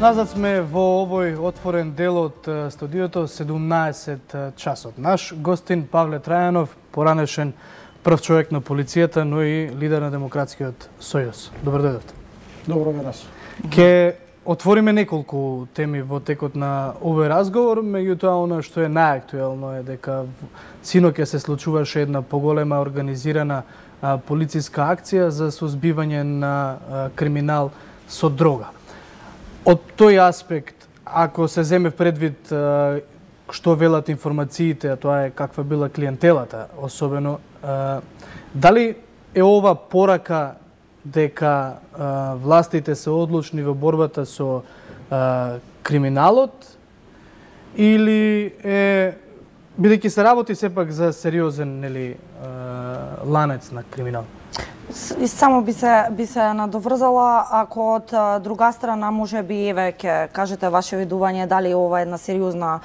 Назад сме во овој отворен дел од студиото 17 часот. Наш гостин Павле Трајанов, поранешен прв човек на полицијата, но и лидер на Демократскиот сојуз. Добро дојдовте. Добро вечер. Ке отвориме неколку теми во текот на овој разговор, меѓутоа она што е најактуелно е дека синоќа се случуваше една поголема организирана полициска акција за сузбивање на криминал со дрога. Од тој аспект, ако се земе предвид што велат информациите, а тоа е каква била клиентелата, особено, дали е ова порака дека властите се одлучни во борбата со криминалот, или е, бидејќи се работи сепак за сериозен ланец на криминал? Само би се надоврзала, ако од друга страна може би еве ќе кажете ваше видување дали ова е една сериозна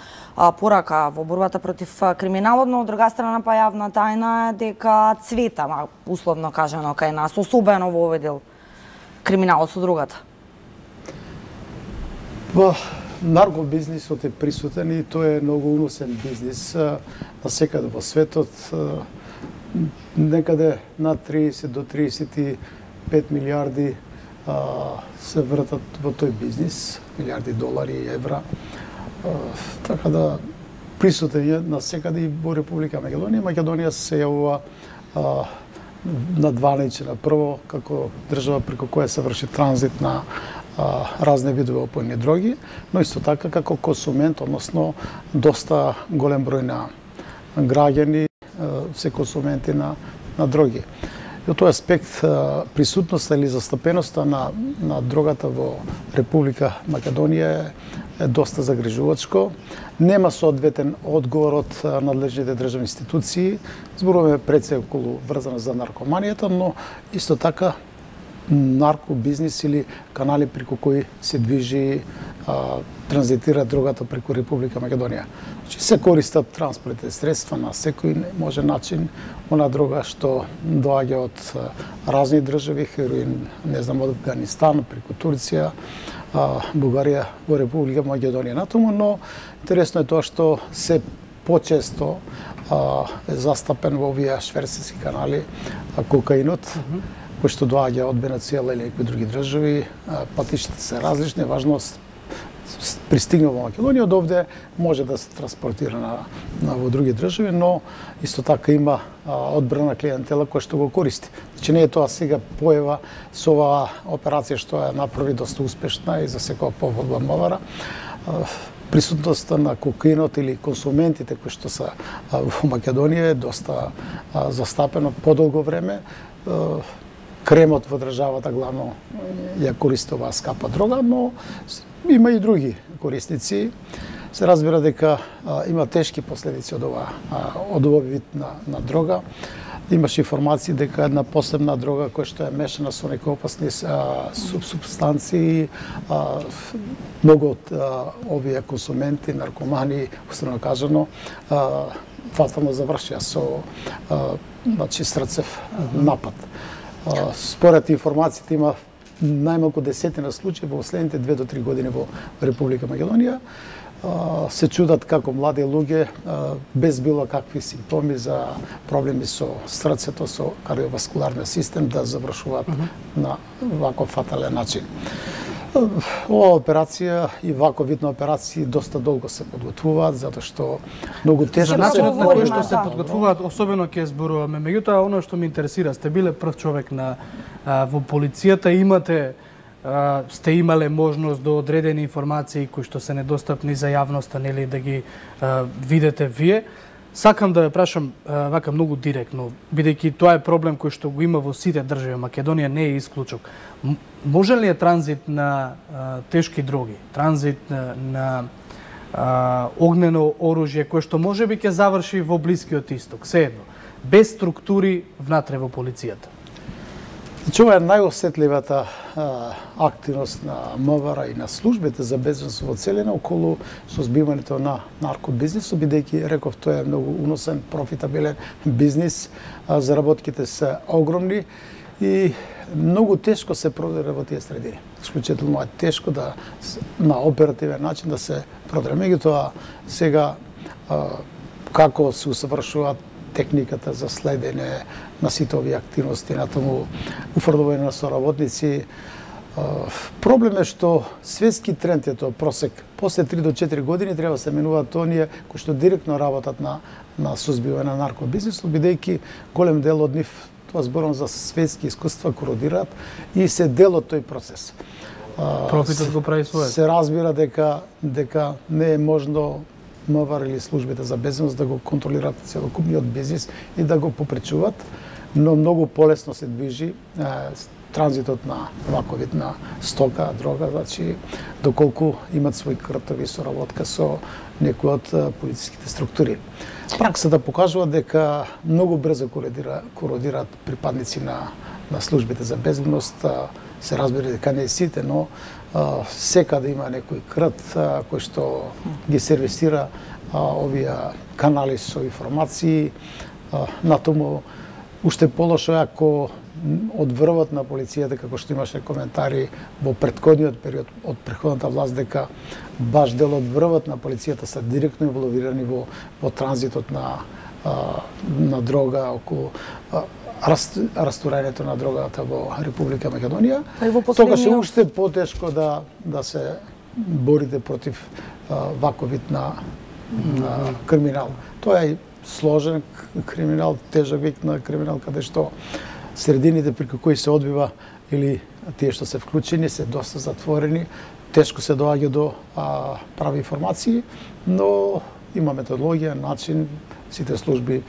порака во борбата против криминалот, но од друга страна па јавна тајна е дека цвета, условно кажано, кај нас, особено во овој дел криминалот со другата. Наркобизнисот е присутен и тој е многу уносен бизнис насекаде во светот. Некаде над 30 до 35 милиарди се вртат во тој бизнис, милиарди долари и евра. Така да присутен е насекаде и во Република Македонија. Македонија се јавува на 12 на прво како држава преку која се врши транзит на разни видови опојни дроги, но исто така како консумент, односно доста голем број на граѓани се консументи на дроги. И од тој аспект присутноста или застапеноста на дрогата во Република Македонија е доста загрижувачко. Нема соодветен одговор од надлежните државни институции. Зборуваме пред се околу врзано за наркоманијата, но исто така наркобизнис или канали преку кои се движи, транзитира дрогата преку Република Македонија. Значи се користат транспортни средства на секој може начин, она дрога што доаѓа од разни држави, хероин, не знам, од Афганистан, преку Турција, Бугарија во Република Македонија натаму, но интересно е тоа што се почесто е застапен во овие шверцерски канали кокаинот, кој што доаѓа од Венецуела или некои други држави. Патиштата се различни, важно пристигнува во Македонија, од овде може да се транспортира во други држави, но исто така има одбрана клиентела која што го користи. Значи не е тоа сега појава со оваа операција што е направи доста успешна и за секоја поводба мовара. Присутноста на кокаинот или консументите кои што се во Македонија е доста застапено подолго време. Кремот во државата главно ја користи оваа скапа дрога, но има и други корисници. Се разбира дека има тешки последици од овој вид на дрога. Имаше информации дека една посебна дрога која што е мешана со некои опасни супстанции, многу од овие консументи, наркомани, уствено кажано, фатално завршија со срцев напад. Според информациите има најмалку десетина случаи во следните 2 до 3 години во Република Македонија. Се чудат како млади луѓе без било какви симптоми за проблеми со срцето, со кардиоваскуларниот систем да завршуваат на ваков фатален начин. Ова операција и вако вид на операции доста долго се подготвуваат, затоа што многу тежко. За начинот на кој што се подготвуваат, особено ќе зборуваме. Меѓутоа, оно што ме интересира, сте биле прв човек во полицијата, сте имале можност до одредени информации кои што се недостапни за јавноста, нели, да ги видите вие. Сакам да ја прашам вака многу директно, бидејќи тоа е проблем кој што го има во сите држави, Македонија не е исклучок. Може ли е транзит на тешки дроги, транзит на огнено оружје кој што можеби ќе заврши во Блискиот Исток, сеедно, без структури внатре во полицијата? Значи, ова е најосетливата активност на МВР и на службите за безбедност во целина околу созбивањето на наркобизнисот, бидејќи, реков, тоа е многу уносен, профитабилен бизнис, заработките се огромни и многу тешко се продира во тие средини. Исклучително е тешко да на оперативен начин да се продира. Меѓутоа сега како се усавршуваат техниката за следење на сите овие активности, на тому уфрлување на соработници. Проблем е што светски тренд е тоа просек. После 3 до 4 години треба да се менуваат оние кои што директно работат на сузбивање на наркобизнисот, бидејќи голем дел од нив, тоа зборам за светски искуства, кородираат и се дел од тој процес. Профитот го прави својот. Се разбира дека не е можно МВР или службите за безбедност да го контролираат целокупниот бизнис и да го попречуваат, но многу полесно се движи транзитот на ваков вид на стока, дрога, значи доколку имат свој кртови соработка со некои од полициските структури. Праксата покажува дека многу брзо кородираат припадници на службите за безбедност. Се разбира дека не сите, но секаде има некој крт кој што ги сервисира овие канали со информации. На тому уште полошо е ако од врвот на полицијата, како што имаше коментари во претходниот период од претходната власт, дека баш дел од врвот на полицијата се директно инволвирани во транзитот на дрога, околу растурањето на дрогата во Република Македонија. Тогаш е уште потешко да се борите против ваков вид на криминал. Тоа е сложен криминал, тежок вид на криминал, каде што средините преку кои се одбива или тие што се вклучени се доста затворени, тешко се доаѓа до прави информации, но има методологија, начин, сите служби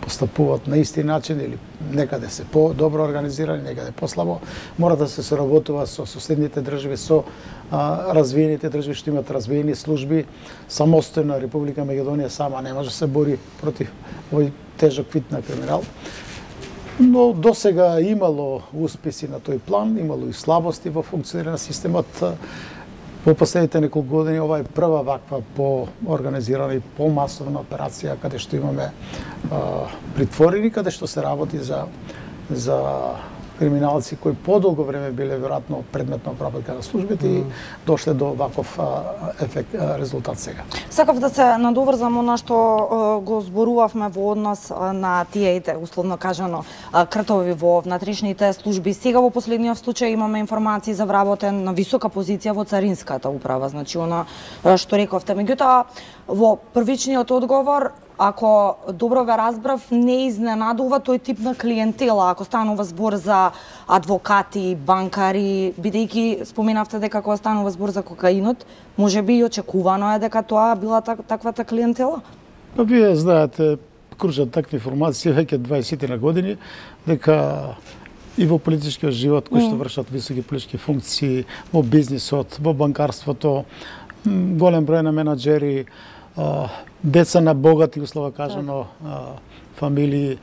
постапуваат на исти начин или некаде се по-добро организирани, некаде послабо. Мора да се соработува со соседните држави, со развиените држави што имаат развиени служби. Самостојна Република Македонија сама не може да се бори против овој тежок вид на криминал. Но досега имало успеси на тој план, имало и слабости во функционирање на системот. Во последните неколку години ова е прва ваква по-организирана и по-масовна операција каде што имаме притворени, каде што се работи за криминалци кои подолго време биле веројатно предмет на обработка на службите и дошле до ваков ефект, резултат сега. Сакав да се надоврзам на што го зборувавме во однос на тие, условно кажано, кртови во внатрешните служби. Сега во последниот случај имаме информации за вработен на висока позиција во царинската управа, значи она што рековте. Меѓутоа, во првичниот одговор, ако добро ве разбрав, не изненадува тој тип на клиентела, ако станува збор за адвокати, банкари, бидејќи споменавте дека кога станува збор за кокаинот, можеби и очекувано е дека тоа била таквата клиентела? Па вие знаете, кружат такви информации веќе 20 на години, дека и во политичкиот живот, кои што вршат високи политички функции, во бизнисот, во банкарството, голем број на менаџери, деца на богати, услово кажано, фамилии,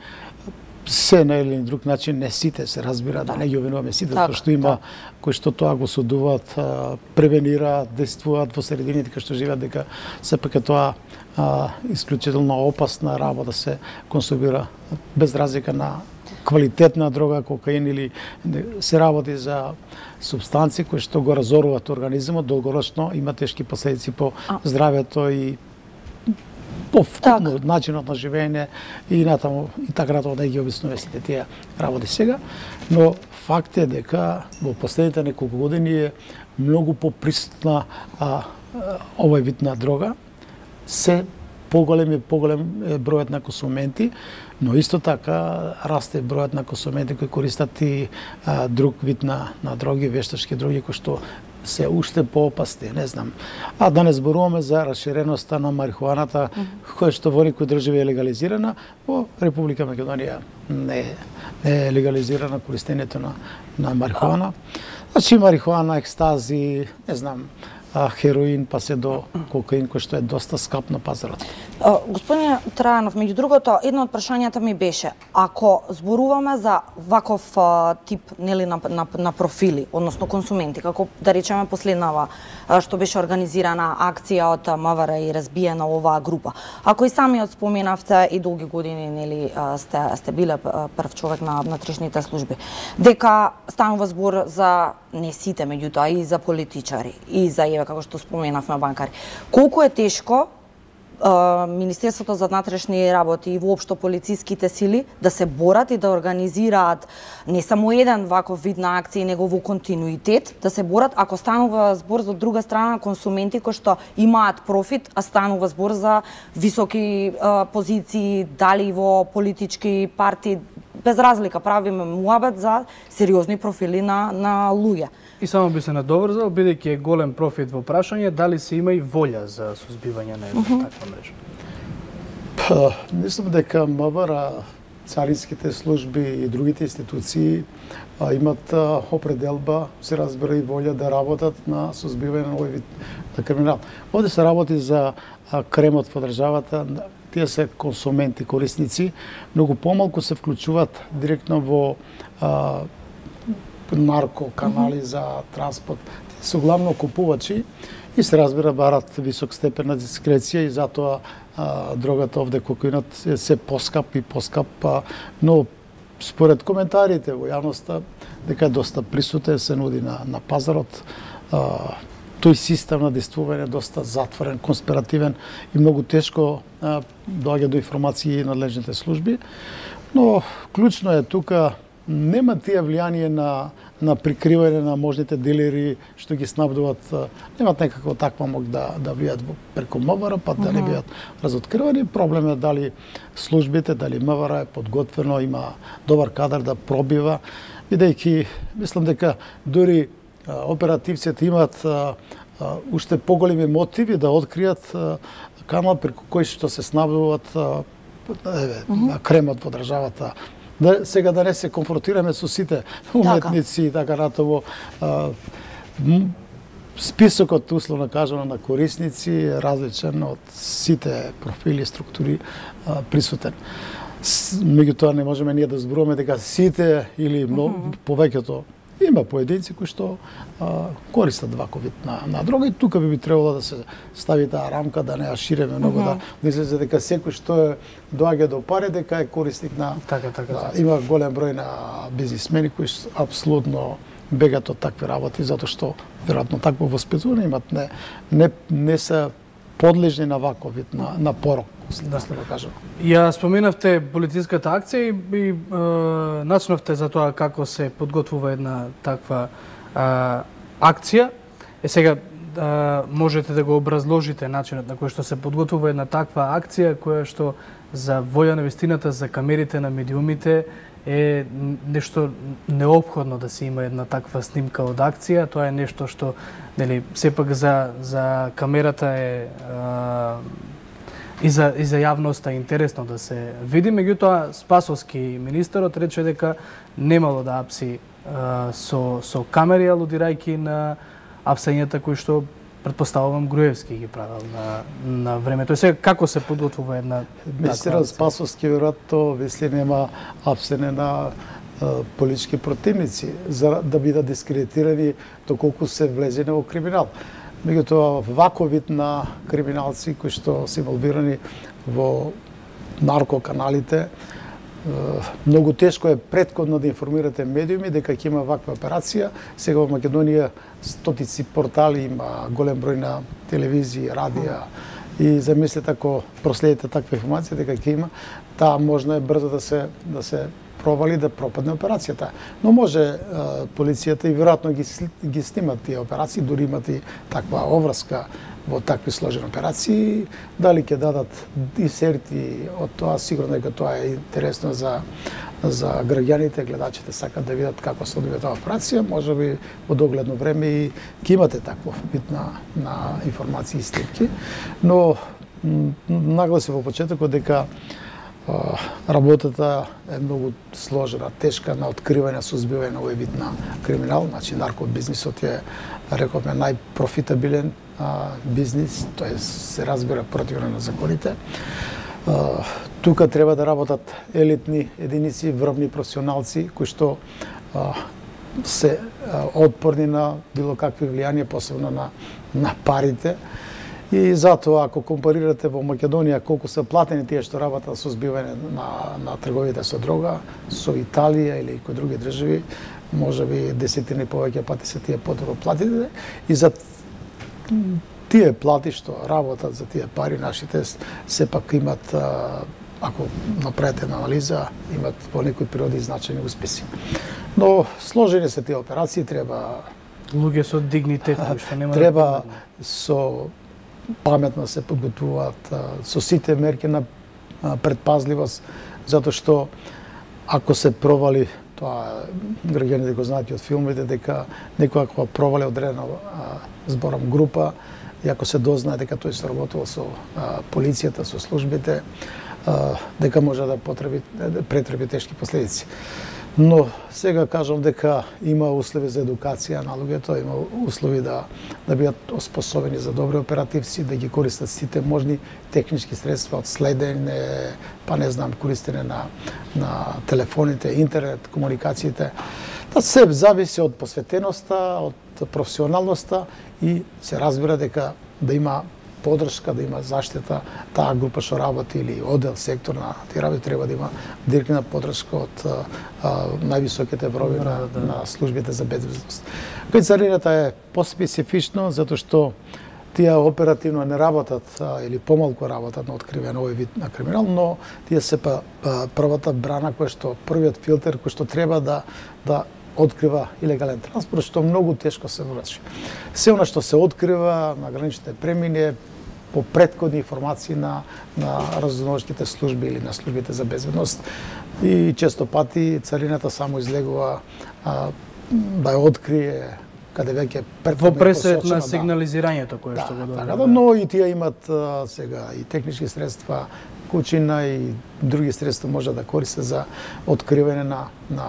се на или друг начин, не сите се разбира, да не ги обвинуваме сите, затоа што има кои што тоа го судуваат, превенираат, действуваат во средините кај што живеат, дека сепак е тоа исклучително опасна работа се консумира без разлика на квалитетна дрога, кокаин или се работи за супстанции кои што го разоруваат организмот, долгорочно има тешки последици по здравјето и по начинот на живење и натаму и така натаму да ги обяснуваме сите тие работи сега, но факт е дека во последните неколку години е многу поприсутна овој вид на дрога, се поголем бројот на консументи, но исто така расте бројот на консументи кои користат и друг вид на дроги, вештачки дроги, кои што се уште поопасни, не знам. А да не зборуваме за расширеноста на марихуаната, која што во некои држави е легализирана, во Република Македонија не е легализирана користењето на марихуана. Значи марихуана, екстази, не знам, хероин, па се до кокаин, кој што е доста скап на пазарот. Господине Трајанов, меѓу другото, едно од прашањата ми беше, ако зборуваме за ваков тип на профили, односно консументи, како да речеме последнава што беше организирана акција од МВР и разбиена оваа група. Ако и самиот споменавте и долги години сте биле прв човек на внатрешните служби, дека станува збор за не сите, меѓутоа и за политичари, и за како што споменавме банкари. Колку е тешко Министерството за внатрешни работи и воопшто полициските сили да се борат и да организираат не само еден ваков вид на акции, него во континуитет, да се борат ако станува збор за друга страна консументи кои што имаат профит, а станува збор за високи позиции, дали во политички партии, без разлика правиме муабет за сериозни профили на луѓе. И само би се надоврзал, бидејќи е голем профит во прашање, дали се има и волја за сузбивање на една таква мрежа? Мислам дека МВР, царинските служби и другите институции имат определба, се разбира и волја да работат на сузбивање на овој вид на криминал. Овде се работи за кремот во државата, тие се консументи, корисници, многу помалку се вклучуваат директно во наркоканали за транспорт. Тие се главно купувачи и се разбира барат висок степен на дискреција и затоа дрогата овде кокаинот е се поскап и поскап, но според коментарите во јавноста дека е доста присутен, се нуди на пазарот. Тој систем на действување е доста затворен, конспиративен и многу тешко доаѓа до информации и надлежните служби. Но клучно е тука, нема тие влијание на прикривање на можните дилери што ги снабдуват, немат некако таква мог да влијат преку МВР, па да не бидат разоткривани. Проблем е дали службите, дали МВР е подготвено, има добар кадар да пробива, бидејќи мислам дека дури оперативците имаат уште поголеми мотиви да откријат канал преку кој што се снабдуваат кремот во државата. Сега да не се конфронтираме со сите уметници и така натаму. Списокот, условно кажано, на корисници е различен од сите профили и структури присутен. Меѓутоа не можеме ние да зборуваме дека сите или повеќето. Има поединци кои што користат ваков вид на дрога и тука би требало да се стави таа рамка, да не ја ширеме многу, да не излезе дека секој што доаѓа до пари дека е корисник на... Така. Има голем број на бизнисмени кои апсолутно бегат од такви работи, затоа што веројатно такво воспитување имат, не се подлежни на ваков вид на порок. Да кажам. Ја споменавте полициската акција и начнавте за тоа како се подготвува една таква акција. Сега можете да го образложите начинот на кој што се подготвува една таква акција која што за волја на вистината, за камерите на медиумите е нешто неопходно да се има една таква снимка од акција. Тоа е нешто што сепак за камерата е и за јавноста е интересно да се види. Меѓутоа, Спасовски министерот рече дека немало да апси со камери, алудирајќи на апсањата кои што претпоставувам Груевски ги правил на времето. И сега како се подготвува една Министерот Спасовски веројатно мисли нема апсене на политички противници за да бидат дискредитирани доколку се влезене во криминал. Меѓутоа, ваков вид на криминалци кои што се инволвирани во наркоканалите, многу тешко е претходно да информирате медиуми дека ќе има ваква операција. Сега во Македонија стотици портали, има голем број на телевизии, радија и замислете ако проследите таква информација дека ќе има, таа можно е брзо да се провали, да пропадне операцијата. Но може полицијата и веројатно ги снимат тие операции, дури имат и таква обврска во такви сложени операции. Дали ќе дадат дисерти од тоа, сигурно дека тоа е интересно за граѓаните, гледачите сакат да видат како се одвива таа операција, можеби во догледно време и ќе имате таков вид на информации и снимки. Но нагласи во почетокот дека работата е многу сложена, тешка на откривање, сузбивање на овој вид на криминал. Значи, наркобизнисот е, рековме, најпрофитабилен бизнис, тоа се разбира противно на законите. Тука треба да работат елитни единици, врвни професионалци кои што се отпорни на било какви влијанија, посебно на парите. И затоа, ако компарирате во Македонија колку се платени тие што работат со збивање на трговите со дрога, со Италија или кои други држави, можеби десетини повеќе пати се тие потребно платите. И за тие плати што работат за тие пари, нашите сепак имат, ако направите анализа, имат во некои периоди значајни успеси. Но сложени се тие операции, треба луѓе со дигнитет кои што нема треба со паметно се подготвуваат со сите мерки на предпазливост, затоа што ако се провали, тоа граѓаните го знаат и од филмите, дека некоја кога провали одредена зборам група, и ако се дознае дека тој соработувал со полицијата, со службите, дека може да претрпи тешки последици. Но сега кажам дека има услови за едукација на луѓето, има услови да бидат оспособени за добри оперативци, да ги користат сите можни технички средства од следење, па не знам, користење на телефоните, интернет, комуникациите. Тоа се зависи од посветеноста, од професионалноста и се разбира дека да има подршка, да има заштита, таа група што работи или оддел, сектор на тие работи треба да има директна подршка од највисоките врови на службите за безбедност. Кај царината е поспецифично затоа што тие оперативно не работат или помалку работат на откривање овој вид на криминал, но тие се првата брана која што првиот филтер кој што треба да открива илегален транспорт, што многу тешко се врши. Се она што се открива на граничните премини по претходни информации на разузнавачките служби или на службите за безбедност и често пати царината само излегува да ја открие каде веќе во пресред на сигнализирањето кое што го добива. Така, но и тие имат сега и технички средства, кучина и други средства може да користат за откривање на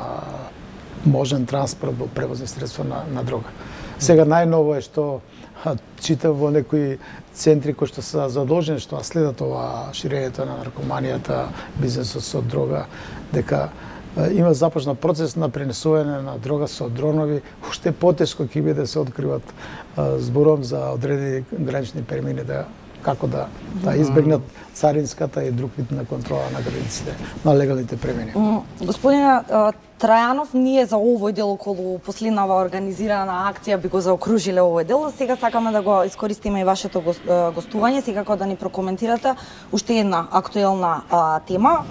можен транспорт во превозни средства на дрога. Сега најново е што читам во некои центри кои што се задолжени што следат ова ширењето на наркоманијата, бизнесот со дрога, дека има започна процес на пренесување на дрога со дронови, уште потешко ќе биде да се откриват збором за одредени гранични премини како да избегнат царинската и друг вид на контрола на границите, на легалните премини. Господине Трајанов, ние за овој дел околу последнава организирана акција би го заокружиле овој дел. Сега сакаме да го искористиме и вашето гостување, секако да ни прокоментирате уште една актуелна тема.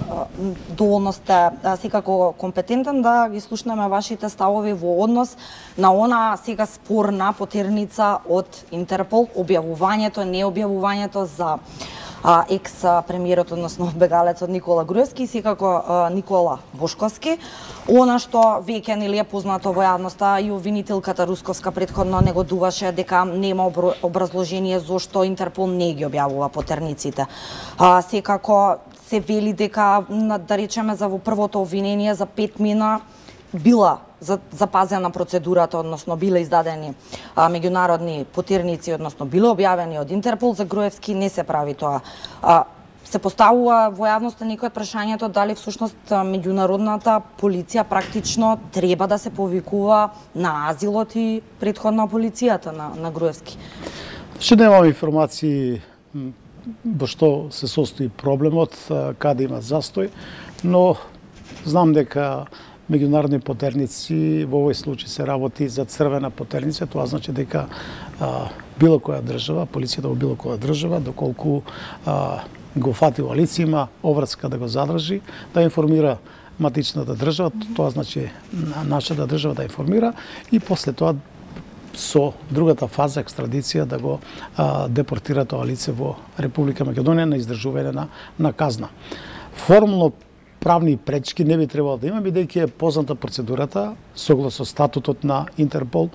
Доволно сте секако компетентен да ги слушнеме вашите ставови во однос на она сега спорна потерница од Интерпол, објавувањето, необјавувањето за екс-премиерот, односно бегалецот Никола Груевски и секако Никола Бошковски. Она што веќе нели е познато во јавноста и обвинителката Русковска претходно негодуваше дека нема образложение зошто Интерпол не ги објавува потерниците. Секако се вели дека, да речеме, за во првото обвинение за 5 мина била запазена процедурата, односно биле издадени меѓународни потерници, односно биле објавени од Интерпол. За Груевски не се прави тоа. Се поставува во јавноста некој прашањето дали всушност меѓународната полиција практично треба да се повикува на азилот и претходно полицијата на Груевски. Ше немам информации во што се состои проблемот, каде има застој, но знам дека меѓународни потерници, во овој случај се работи за црвена потерница, тоа значи дека било која држава, полицијата во било која држава, доколку го фатила лице, има обврска да го задржи, да информира матичната држава, тоа значи нашата држава да информира и после тоа со другата фаза екстрадиција да го депортира тоа лице во Република Македонија на издржување на казна. Формално правни пречки не би требало да има, бидејќи е позната процедурата, согласно статутот на Интерпол,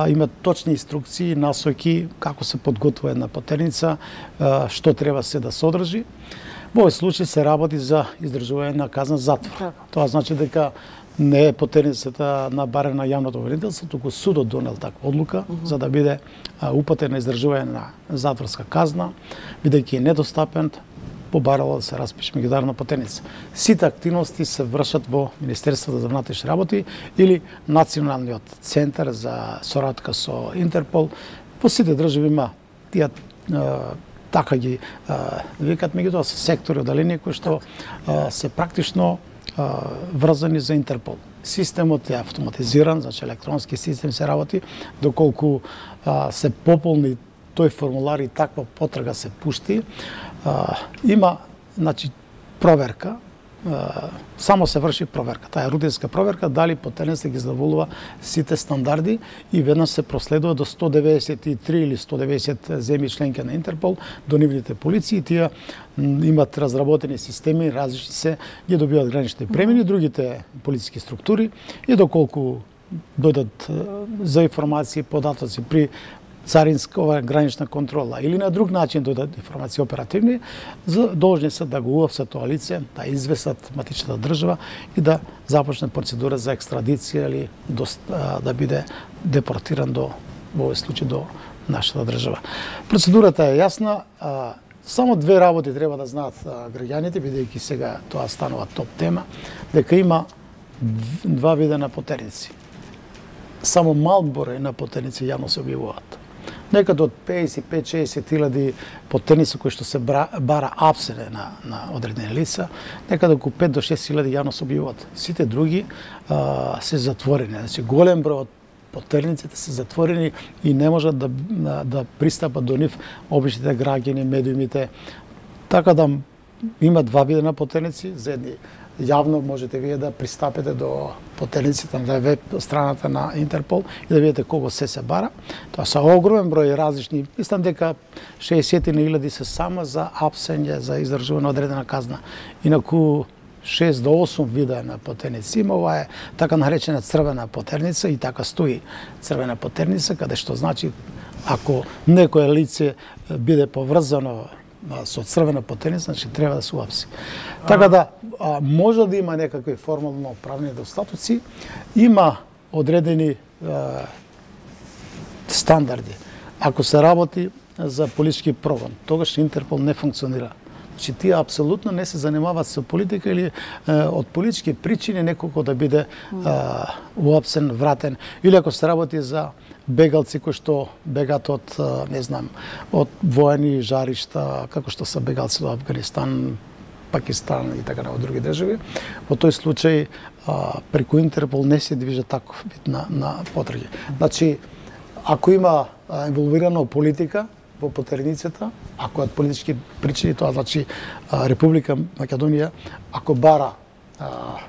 има точни инструкции, насоки како се подготвува една потерница, што треба се да содржи. Во овој случај се работи за издржување на казна затвор. Тоа значи дека не е потерницата на барем на јавното обвинителство, туку судот донел таква одлука за да биде упатен на издржување на затворска казна, бидејќи е недостапен, побарало да се распише меѓународна потерница. Сите активности се вршат во Министерството за внатрешни работи или Националниот центар за соработка со Интерпол. Во сите држави има тие така ги викат, меѓутоа се сектори одделени кои што се практично врзани за Интерпол. Системот е автоматизиран, значи електронски систем се работи, доколку се пополни тој формулар и таква потрага се пушти, има, значи, проверка, само се врши проверка. Таа е рутинска проверка, дали потерницата ги задоволува сите стандарди и веднаш се проследува до 193 или 190 земји членки на Интерпол, до нивните полиции. Тие имат разработени системи, различни се, ги добиваат граничните премини, другите полициски структури и доколку дојдат за информации, податоци при царинска гранична контрола или на друг начин дојдат информации оперативни, должни се да го уапсат тоа лице, да известат матичната држава и да започне процедура за екстрадиција или да биде депортиран во овој случај до нашата држава. Процедурата е јасна, само две работи треба да знаат граѓаните, бидејќи сега тоа станува топ тема, дека има два вида на потерници. Само мал број на потерници јавно се објавуваат. Некаде од 55-60 хиляди потерници кои што се бара апсене на одредени лица, некаде околу 5 до 6 хиляди јавно се објавуваат. Сите други се затворени. Значи, голем број од потерниците се затворени и не можат да пристапат до нив обичните граѓани, медиумите. Така да има два вида на потерници, за едни јавно можете вие да пристапете до потерниците на веб страната на Интерпол и да видите колку се бара. Тоа се огромен број различни, мислам дека 60.000 се само за апсење, за издржување одредена казна. Инаку 6 до 8 вида на потерници има, ова е така наречена црвена потерница и така стои црвена потерница, каде што значи ако некое лице биде поврзано со црвена потерница, значи треба да се уапси. Така да може да има некакви формално правни недостатоци, има одредени стандарди. Ако се работи за политички прогон, тогаш Интерпол не функционира. Значи тие апсолутно не се занимаваат со политика или од политички причини неколку да биде уапсен, вратен, или ако се работи за бегалци кои што бегат од, не знам, од воени жаришта, како што се бегалци до Афганистан, Пакистан и така од други држави. Во тој случај преку Интерпол не се движи таков вид на потраги. Значи, ако има инволвирана политика во потерницата, ако од политички причини, тоа значи Република Македонија, ако бара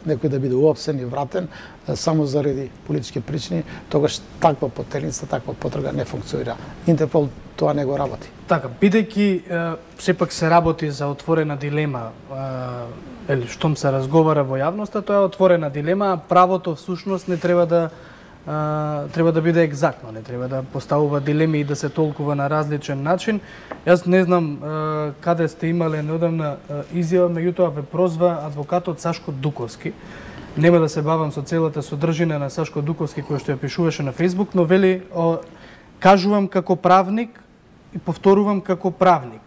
некој да биде уапсен и вратен само заради политички причини, тогаш таква потерница, таква потрага не функционира. Интерпол тоа не го работи. Така, бидејќи сепак се работи за отворена дилема, или штом се разговара во јавноста, тоа е отворена дилема, а правото всушност не треба да биде екзактно, не треба да поставува дилеми и да се толкува на различен начин. Јас не знам каде сте имале неодамна изјава, меѓутоа ве прозва адвокатот Сашко Дуковски. Нема да се бавам со целата содржина на Сашко Дуковски кој што ја пишуваше на Facebook, но вели кажувам како правник и повторувам како правник.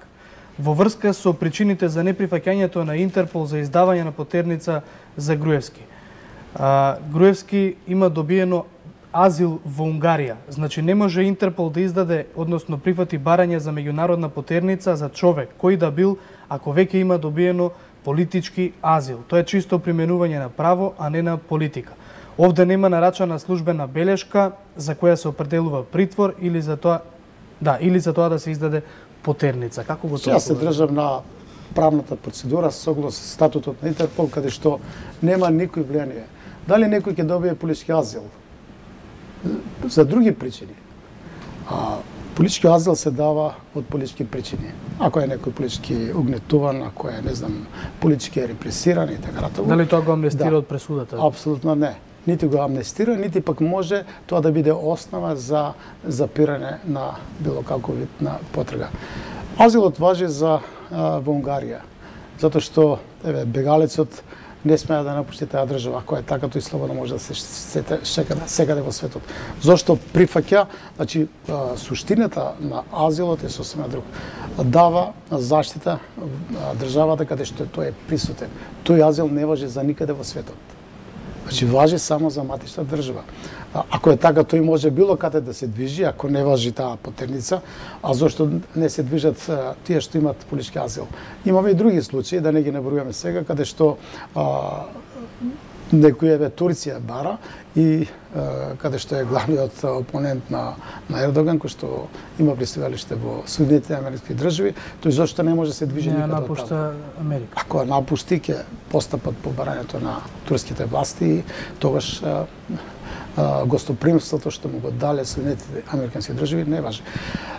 Во врска со причините за неприфаќањето на Интерпол за издавање на потерница за Груевски. Груевски има добиено азил во Унгарија. Значи не може Интерпол да издаде, односно прифати барање за меѓународна потерница за човек кој да бил, ако веќе има добиено политички азил. Тоа е чисто применување на право, а не на политика. Овде нема нарачана службена белешка за која се определува притвор или за тоа да се издаде потерница. Како го тоа? Јас се држам на правната процедура согласно статутот на Интерпол, каде што нема никој влијание. Дали некој ќе добие политички азил? За други причини. Политички азил се дава од политички причини. Ако е некој политички угнетуван, ако е, не знам, политички репресиран и така натаму. Дали тоа го амнестира од пресудата? Апсолутно не. Нити го амнестира, нити пак може тоа да биде основа за запирање на било каков вид на потрага. Азилот важи во Унгарија. затоа што бегалецот не смее да напушти таа држава. Ако е така, тој слободно може да се секаде во светот. Зошто прифаќа, значи, суштината на азилот е сосема друг. Дава заштита државата каде што тој е присутен. Тој азил не важи за никаде во светот. Значи, важи само за матична држава. Ако е така, тој може било каде да се движи, ако не важи таа потерница, а зошто не се движат тие што имат политички азил. Имаме и други случаи, да не ги набројуваме сега, каде што некој Турција бара и каде што е главниот опонент на Ердоган, кој што има пристигналиште во Соединетите Америкски држави, тој зошто не може да се движи никаде од таму. Напушта Америка. Ако напушти, ќе постапат по барањето на турските власти и тогаш гостопримството што му го дале Соединетите Американски држави не важи.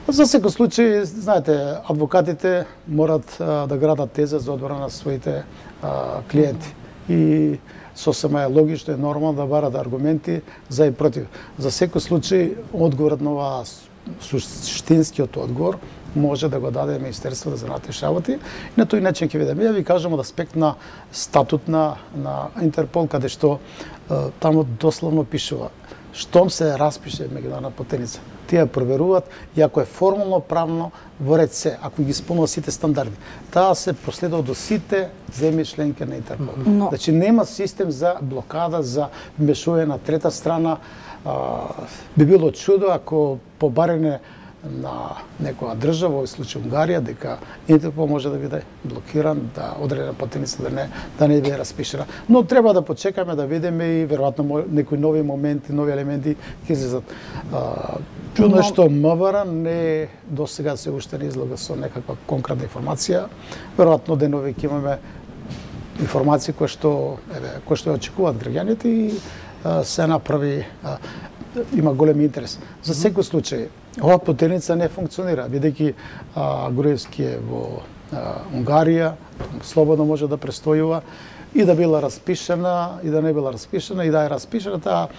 За секој случај, знаете, адвокатите морат да градат теза за одбрана на своите клиенти. И сосема е логично и нормално да барат аргументи за и против. За секој случај, одговорот на оваа суштинскиот одговор може да го даде Министерството за внатрешни работи. И на тој начин ќе видиме. Ја ви кажам од аспект на статут на Интерпол, каде што таму дословно пишува штом се распише меѓународна потерница, тие проверуваат и ако е формално правно во ред се, ако ги исполнува сите стандарди, таа се проследува до сите земји членки на Интерпол. Значи нема систем за блокада, за вмешување на трета страна. Би било чудо ако по барање на некоја држава, во случај Унгарија, дека Интерпол може да биде блокиран, да одредена потерница да не биде распишена. Но треба да почекаме да видиме и веројатно некои нови моменти, нови елементи ќе излезат. Чудно што МВР не досега се уште не излага со некаква конкретна информација. Веројатно денови ќе имаме информации кои што очекуваат граѓаните и се направи, има голем интерес. За секој случај, оваа потерница не функционира, бидејќи Груевски е во Унгарија, слободно може да престојува и да била распишена, и да не била распишена, и да е распишена, таа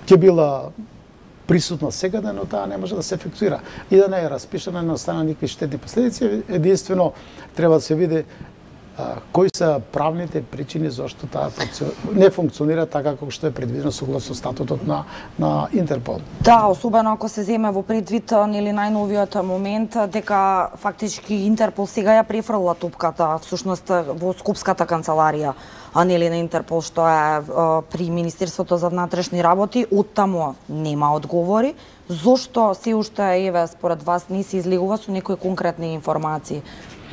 ќе била присутна секаде, но таа не може да се ефектуира. И да не е распишена, не остана никакви штетни последици, единствено треба да се види кои се правните причини зашто таа не функционира така како што е предвидено согласно статутот на Интерпол. Да, особено ако се земе во предвид нели најновиот момент дека фактички Интерпол сега ја префрла топката всушност во Скопската канцеларија, а нели на Интерпол што е при Министерството за внатрешни работи, оттаму нема одговори. Зошто се уште според вас не се излегува со некои конкретни информации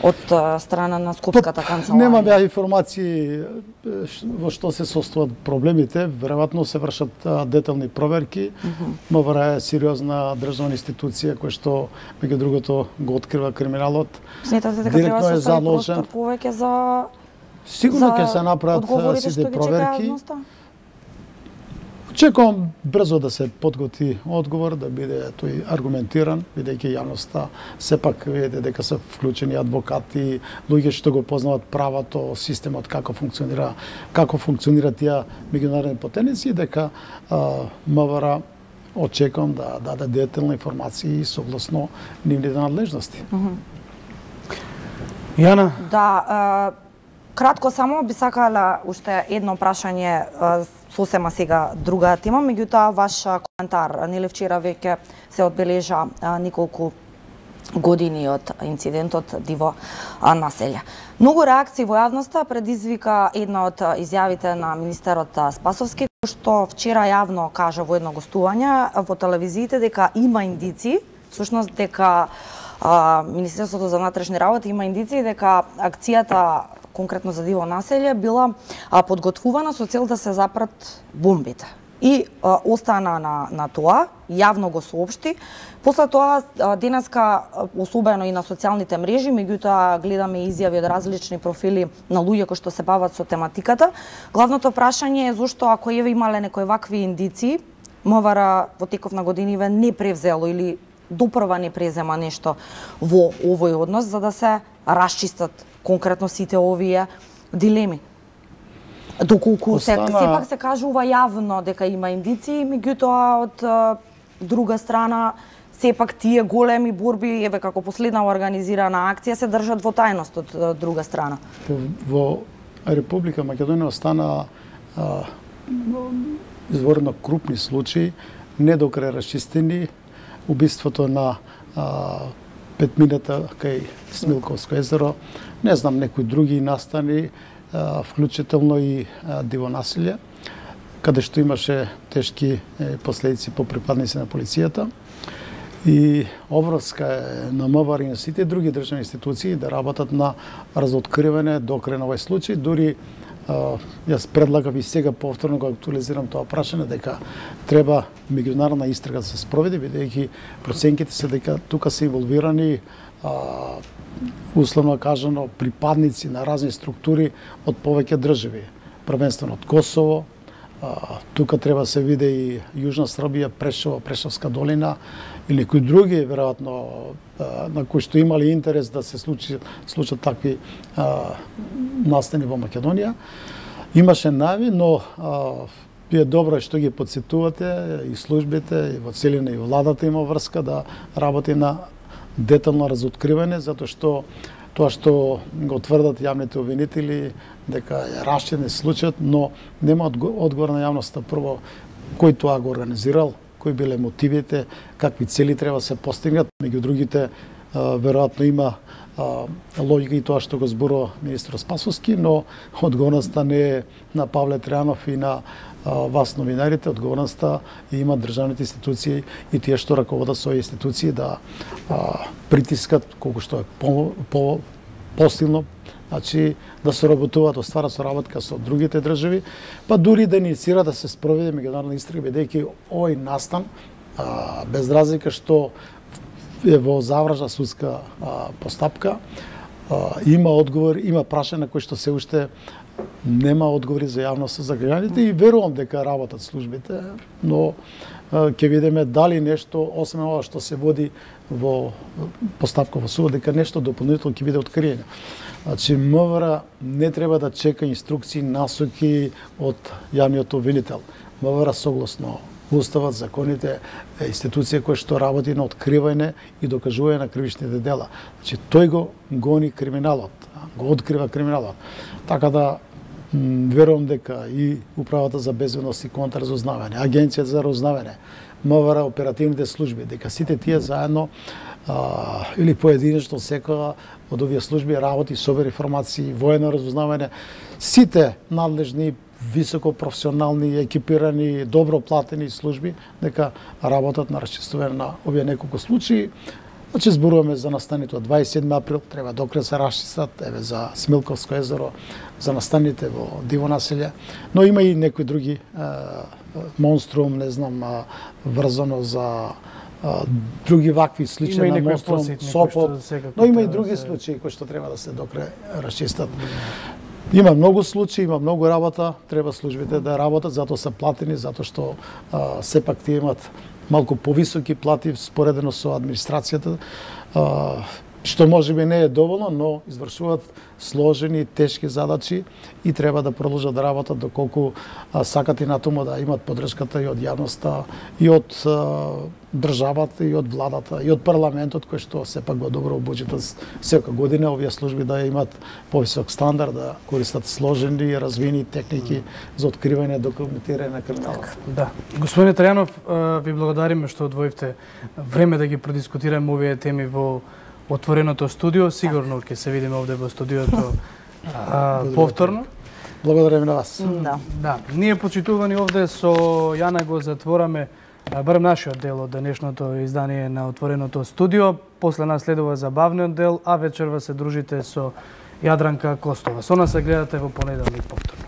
од страна на Скопската канцеларија? Немам ја информации во што се состојат проблемите. Веројатно се вршат детални проверки. МВР е сериозна државна институција која што меѓу другото го открива криминалот. Сметате дека треба да се остави простор повеќе за сигурно ќе се направат сите проверки. Очекувам брзо да се подготви одговор, да биде тој аргументиран, бидејќи јавноста сепак видите дека се вклучени адвокати, луѓе што го познават правото, системот како функционира тие меѓународни потерници, дека МВР очекувам да даде детални информации согласно нивните надлежности. Јана? Да, кратко само би сакала уште едно прашање, сосема сега друга тема, меѓутоа ваш коментар. Нели вчера веќе се одбележа неколку години од инцидентот Диво населје. Многу реакции во јавноста предизвика една од изјавите на министерот Спасовски, што вчера јавно кажа во едно гостување во телевизиите дека има индици, всушност дека Министерството за внатрешни работи има индици дека акцијата конкретно за Диво населје била подготвувана со цел да се запрат бомбите. И остана на тоа, јавно го соопшти. После тоа денеска, особено и на социјалните мрежи, меѓутоа гледаме изјави од различни профили на луѓе кои што се бават со тематиката. Главното прашање е зошто ако имале некои вакви индиции, МВР во теков на годиниве не превзело или допрва не презема нешто во овој однос за да се расчистат конкретно сите овие дилеми. Доколку сепак се кажува јавно дека има индиции, меѓутоа од друга страна сепак тие големи борби, еве како последна организирана акција, се држат во тајност од друга страна? Во Република Македонија остана изворно крупни случаи, не до крај расчистени. Убиството на петмината кај Смилковско езеро, не знам, некои други настани, вклучително и дивонасилје, каде што имаше тешки последици по припадници на полицијата. И обврска е на МВР и на сите други државни институции да работат на разоткривање до крај на овој случај. Дури јас предлагав и сега повторно го актуализирам тоа прашање дека треба меѓународна истрага да се спроведе, бидејќи проценките се дека тука се инволвирани условно кажано припадници на разни структури од повеќе држави, првенствено од Косово. Тука треба да се види и Јужна Србија, Прешево, Прешевска долина и некои други, веројатно, на кои што имали интерес да се случат такви настани во Македонија. Имаше најави, но е добро што ги подсетувате и службите, и во целина и владата има врска да работи на детално разоткривање, затоа што тоа што го тврдат јавните обвинители дека е расчинен случајот, но нема одговор на јавноста прво кој тоа го организирал, кои биле мотивите, какви цели треба да се постигнат. Меѓу другите, веројатно има логика и тоа што го зборува министер Спасовски, но одговорноста не е на Павле Тројанов и на вас новинарите, одговорноста има државните институции и тие што раководат со институции да притискат колку што е посилно, значи да соработуваат, остварат соработка со другите држави, па дури да инициира да се спроведе меѓународна истрага, бидејќи овој настан, без разлика што е во завршна судска постапка, има одговор, има прашања на кои што се уште нема одговори за јавноста, за граѓаните и верувам дека работат службите, но ќе видиме дали нешто, освен ова што се води во постапка во судот, дека нешто дополнително ќе биде откриено. Значи, МВР не треба да чека инструкции, насоки од јавниот обвинител. МВР согласно Уставот, законите, институција која што работи на откривање и докажување на кривичните дела. Значи, тој го гони криминалот, го открива криминалот. Така да верувам дека и Управата за безбедност и контрразузнавање, Агенцијата за разузнавање, МВР, оперативните служби, дека сите тие заедно или поединечно секоја од овие служби работи, собира информации, воено разузнавање, сите надлежни, високо професионални, екипирани, добро платени служби, дека работат на расчистување на овие неколку случаи. Значи, зборуваме за настаните од 27 април, треба докрај се расчистат, еве за Смилковско езеро, за настаните во Дивонаселје, но има и некои други монструм, не знам, врзано за други вакви слични на монструм, Сопот, но има и други случаи кои што треба да се докрај расчистат. Има многу случаи, има многу работа, треба службите да работат, затоа се платени, затоа што сепак тие имат малку повисоки плати споредено со администрацијата, што можеби не е доволно, но извршуваат сложени, тешки задачи и треба да продолжат да работат доколку сакат и натаму да имат поддршката и од јавноста, и од државата, и од владата, и од парламентот, кој што сепак го добро буџетот секоја година овие служби да имат повисок стандард, да користат сложени и развини техники за откривање и документирање на криминалот. Да. Господине Тројанов, ви благодариме што одвоивте време да ги продискутираме овие теми во отвореното студио. Сигурно ќе се видиме овде во студиото повторно. Благодариме на вас. Да. Ние почитувани овде со Јана го затвораме барем нашиот дел од денешното издание на отвореното студио. После нас следува забавниот дел, а вечерва се дружите со Јадранка Костова. Со нас се гледате во понеделник повторно.